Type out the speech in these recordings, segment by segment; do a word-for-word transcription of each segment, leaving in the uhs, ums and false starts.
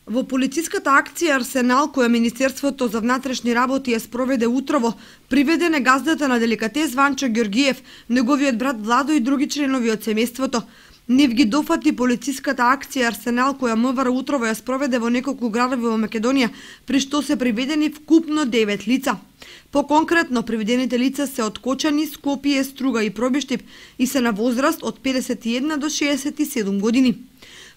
Во полициската акција Арсенал, која Министерството за внатрешни работи ја спроведе утрово, приведен е газдата на деликатес Ванчо Ѓоргиев, неговиот брат Владо и други членови од семејството. Нив ги дофати полициската акција Арсенал, која МВР утрово ја спроведе во неколку градови во Македонија, при што се приведени вкупно девет лица. Поконкретно, приведените лица се од Кочани, Скопје, Струга и Пробиштип и се на возраст од педесет и една до шеесет и седум години.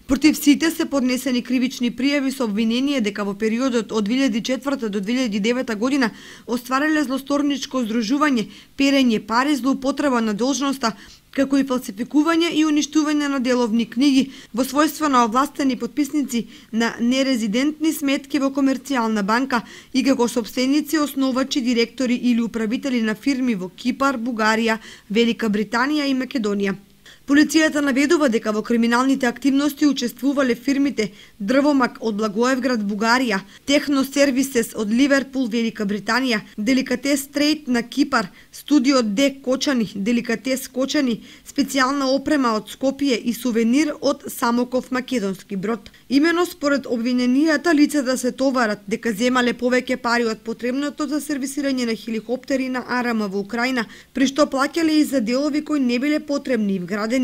Против сите се поднесени кривични пријави со обвинение дека во периодот од две илјади и четврта до две илјади и девета година оствариле злосторничко здружување, перење пари, злоупотреба на должноста, како и фалсификување и уништување на деловни книги во својство на овластени потписници на нерезидентни сметки во комерцијална банка и како сопственици, основачи, директори или управители на фирми во Кипар, Бугарија, Велика Британија и Македонија. Полицијата наведува дека во криминалните активности учествувале фирмите Дрвомак од Благоевград, Бугарија, Техно Сервисес од Ливерпул, Велика Британија, Деликатес Трейд на Кипар, Студио Д Кочани, Деликатес Кочани, специјална опрема од Скопје и сувенир од Самоков македонски брод. Имено според обвиненијата лицата се товарат дека земале повеќе пари од потребното за сервисирање на хеликоптери на Арама во Украина, при што плаќале и за делови кои не биле потребни и вградени.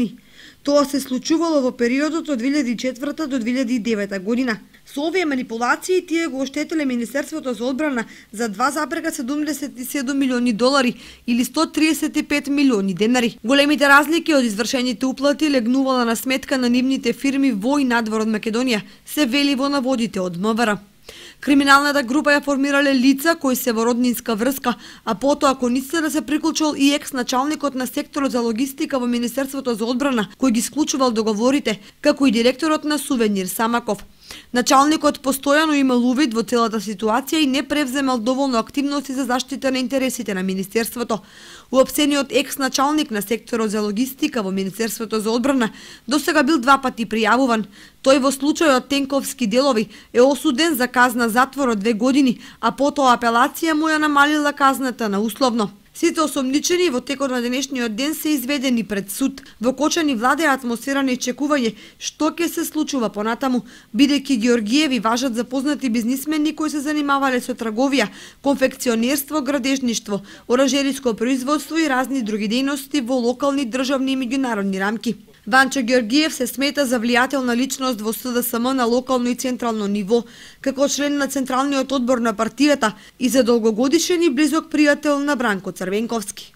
Тоа се случувало во периодот од две илјади и четврта до две илјади и девета година. Со овие манипулации тие го оштетиле Министерството за одбрана за два зарез седумдесет и седум милиони долари или сто триесет и пет милиони денари. Големите разлики од извршените уплати легнувала на сметка на нивните фирми во и надвор од Македонија, се вели во наводите од МВР. Криминалната група ја формирале лица кои се во роднинска врска, а потоа кон истите да се приклучил и екс-началникот на секторот за логистика во Министерството за одбрана, кој ги склучувал договорите, како и директорот на Сувенир Самаков. Началникот постојано имал увид во целата ситуација и не превземал доволно активности за заштита на интересите на Министерството. Уопсениот екс-началник на секторот за логистика во Министерството за одбрана досега бил два пати пријавуван. Тој во случајот Тенковски делови е осуден за казна затвор од две години, а потоа апелација му ја намалила казната на условно. Сите осомничени во текот на денешниот ден се изведени пред суд. Во Кочани владее атмосфера на исчекување што ќе се случува понатаму, бидејќи Ѓоргиеви важат за познати бизнисмени кои се занимавале со трговија, конфекционерство, градежништво, оранжериско производство и разни други дејности во локални, државни и меѓународни рамки. Ванчо Ѓоргиев се смета за влијателна личност во С Д С М на локално и централно ниво, како член на Централниот одбор на партијата и за долгогодишен и близок пријател на Бранко Црвенковски.